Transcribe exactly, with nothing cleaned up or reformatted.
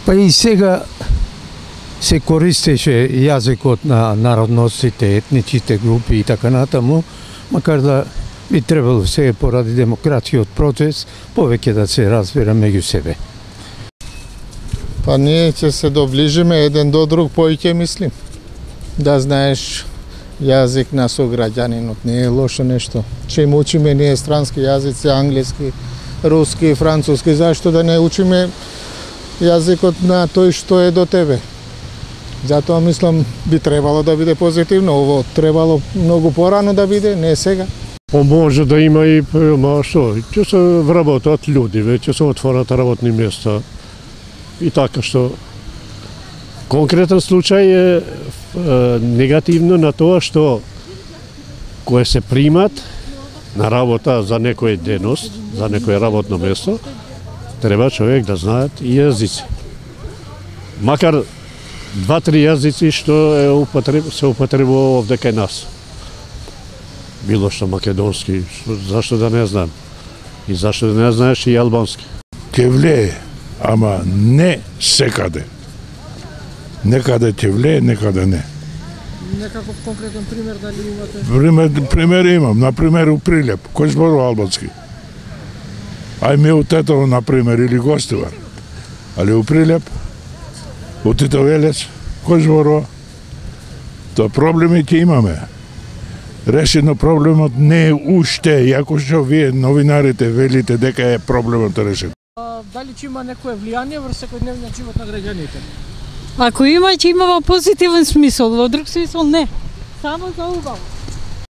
Па и сега се користеше јазикот на народностите, етничите групи и така натаму, макар да би требало сега поради демократиот процес повеќе да се разбира меѓу себе. Па ние ќе се доближиме еден до друг поиќе, мислим. Да знаеш јазик на сограѓанинот не е лошо нешто. Че им учиме ние странски јазици, англиски, руски, француски, зашто да не учиме јазикот на тој што е до тебе. Затоа мислам би требало да биде позитивно, ово требало многу порано да биде, не сега. Па може да има и, ма што, ќе се вработат луѓе, веќе се отворат работни места. И така што конкретен случај е, е негативно на тоа што кое се примат на работа за некој деност, за некој работно место, треба човек да знаат и јазици. Макар два-три јазици што е употреб, се употребува овде кај нас. Било што македонски, зашто да не знам. И зашто да не знаеш и албански. Ќе влие, ама не секаде. Некаде ќе влие, некаде не. Некаков конкретен пример дали имате? Пример, пример имам, например у Прилеп, кој зборува албански. Ај ми у Тетово, например, или Гостивар. Али у Прилеп, у Титовелец, кој зборува? Тоа проблеми ќе имаме. Решено проблемот не е уште, иако што вие новинарите велите дека е проблемот решен. А, дали ќе има некое влијание врз секојдневниот живот на граѓаните? Ако има, ќе има во позитивен смисол, во друг смисол не. Само за убаво.